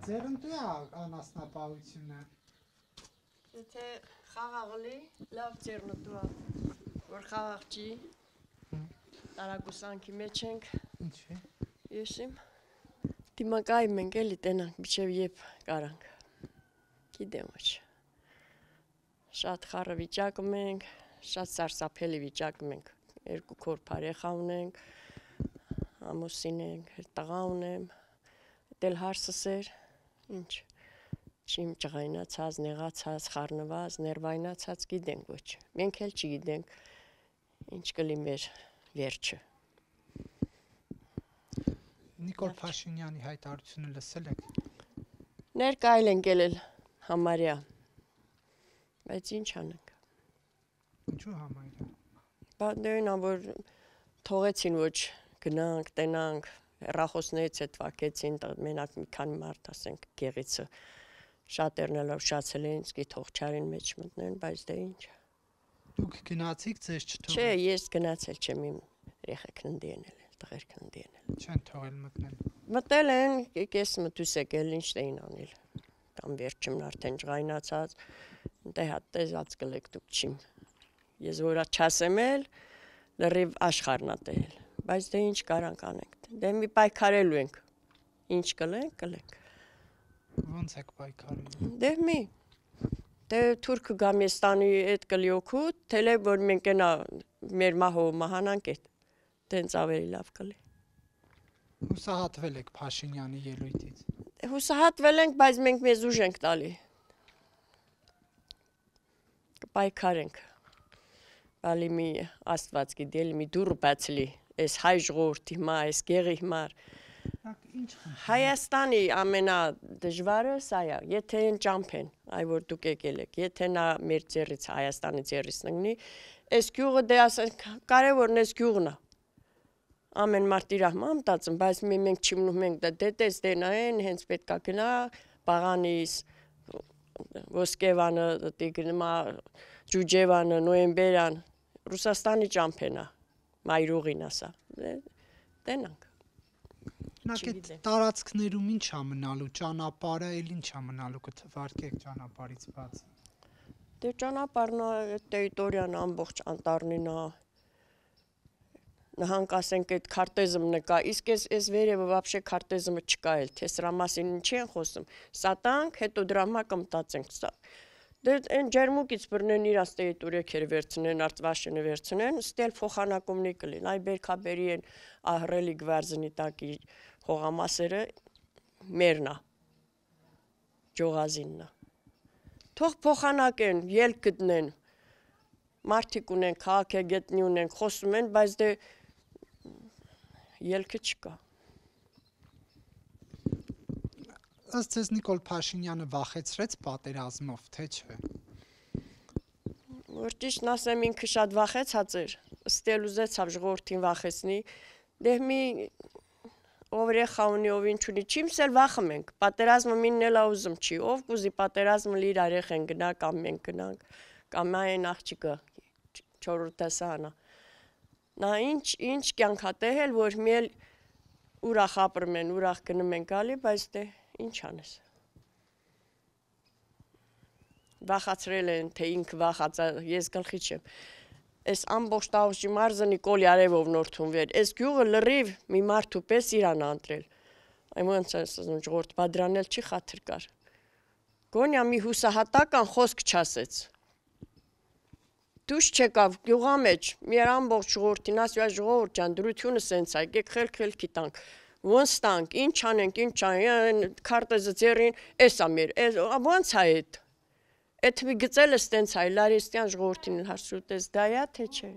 Ձեր ընտու է անասնապահությունը։ Եթե խաղաղլի, լավ ձեռնտու է, որ խաղաղ չի, տարակուսանքի մեջ ենք։ Ինչի։ Եսիմ, դիմակայում ենք էլի տենանք, միջև եբ կարանք, գիտեմ ոչ։ Շատ խառը վիճակում ենք, շատ սարսափելի վիճակում ենք, 2 քոր փարեխա ունենք, ամուսին ենք, տղա ունեմ, դել հարսս էր, ինչ, չիմ ճղայնացած, նեղացած, խառնված, ներվայնացած գիտենք ոչ, մենք էլ չգիտենք, ինչ կլի մեր վերջը։ Նիկոլ Փաշինյանի հայտարարությունը լսել եք։ Ներկայել ենք ելել համարյա, բայց ինչ անենք։ Ինչու համարյա։ Բանդերին որ թողեցին ոչ գնանք, տենանք, հեռախոսներից հետ վակեցին, մենակ մի քանի մարդ ասենք գեղիցը շատերն էլ ուշացել էին, սկի թողչարին մեջ մտնեն, բայց դե ինչ։ Դուք գնացիք ձեզ չթողել։ Չէ, ես գնացել չեմ իմ երեխեքն ընդ ենել, տղերքն ընդ ենել։ Չեն թողել մտնել։ Մտել են, ես մտուս եկել, ինչ էին անել։ Կամ վերջումն արդեն ջղայնացած, դե հատ տեսած կլեք դուք չիմ։ Ես որա չասեմ էլ, լրիվ աշխարհնա տել, բայց դե ինչ կարանք անենք։ Դե մի պայքարելու ենք։ Ինչ կլենք, կլենք։ Ոնց եք պայքարելու։ Դե մի դե Թուրքը Գամեստանի այդ կլի օգուտ, թելե որ մենք այնա մեր մահով մահանանք այդ դենց ավելի լավ կլի։ Հուսահատվել եք Փաշինյանի ելույթից։ Հուսահատվել ենք, բայց մենք մեզ ուժ ենք տալի։ Կպայքարենք։ Բալի մի Աստված գիտի, մի դուռ բացլի, այս հայ ժողովրդի հիմար, այս գեղի հիմար։ Հայաստանի ամենադժվարը սա է, եթե են ճամփեն, այ որ դուք եկել եք, եթե նա մեր ձեռից Հայաստանի ձեռից նգնի, այս գյուղը դե ասենք կարևորն այս գյուղն է։ Ամեն մարդ իր մամ մտածում, բայց մենք չիմնում ենք դե տես դենային, հենց պետքա գնա, Պաղանիս, Ոսկեվանը, Տիգրնմա, Ջուջևանը, Նոյեմբերան, Ռուսաստանի ճամփեն է, մայրուղին ասա, տենանք։ Այդ տարածքներում ինչ է մնալու, ճանապարհը էլ ինչ է մնալու, կթվարկեք ճանապարհից բացի։ Դե ճանապարհն է, տերիտորիան ամբողջ անտառնին է։ Նահանք ասենք այդ քարտեզը նկա, իսկ այս վերևը вообще քարտեզը չկա էլ, թե սրա մասին ինչի են խոսում։ Սատանք, հետո դրա մա կմտածենք սա։ Դե այն ջերմուկից բռնեն իրաց տերիտորիա վերցնեն, արտվաշենը վերցնեն, ստել փոխանակումնի կլին, այ բերքաբերի են ահռելի գվարզնի տակի հողամասերը մերն է, ջողազինն է։ Թող փոխանակեն, ելք գտնեն, մարդիկ ունեն, քաղաքագետնի ունեն, խոսում են, բայց դե ելքը չկա։ Ըստ ձեզ Նիկոլ Փաշինյանը վախեցրեց պատերազմով, թե չէ։ Որ ճիշտն ասեմ, ինքը շատ վախեցած էր, ստել ուզեցավ ժողովրդին վախեցնի, դե մի ով երեխա ունի, ով ինչ ունի, չիմսել վախում ենք, պատերազմը մինն էլ ուզում չի, ով կուզի պատերազմը իր երեխեն գնա, կամ մենք գնանք, կամ այն աղջիկը 4 դասարանա։ Նա ինչ կյանք ա տեհել, որ մի էլ ուրախ ապրում են, ուրախ գնում են գալի, բայց դե ինչ անես։ Վախացրել են, թե ինքը վախացա, ես գլխի չեմ։ Այս ամբողջ Տավուշի մարզը Նիկոլի արևով նորթունվեր, այս գյուղը լրիվ մի մարդու պես իրան անտրել։ Այն ոնց ասում, ժողովուրդ բادرանել չի խաթր կար։ Գոնյա մի հուսահատական խոսք չասեց։ Դուշ չեկավ գյուղա մեջ, մի ամբողջ ժողովրդին ասի, ժողովուրդ ջան, դրությունը սենց է, եկեք խելքի տանք։ Ոնց տանք, ինչ անենք, ինչ անենք, քարտեզը ձեռին, էսա մեր, ոնց է այդ։ Այդ մի գծելը ստենց հայ, լարիստյան ժողովրդին հարցրուտես, դա է, թե չէ։